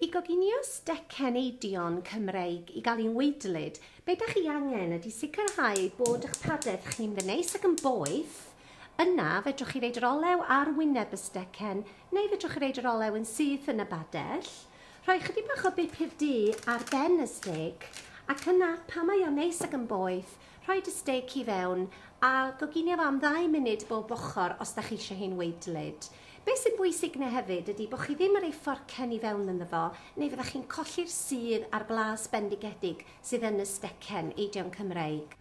I goginio stecen eidion Cymreig i gael un waedlyd, be dach chi angen ydy sicrhau bod eich padell chi'n ddyneis ac yn boeth. Yna, fedrwch chi roid yr olew ar wyneb y stecen, neu fedrwch chi roid yr olew yn syth yn y badell. Rhoi chydig bach o bupur du ar ben y stec, ac yna, pan mae o'n neis ac yn boeth, rhoid y stec i fewn a goginio fo am ddau munud bob ochr os dach chi eisiau hi'n waedlyd. Be sy'n bwysig 'na hefyd ydy bod chi ddim yn rhoi fforcen i fewn ynddo fo, neu fyddech chi'n colli'r sudd a'r blas bendigedig sydd yn y stecen eidion Cymreig.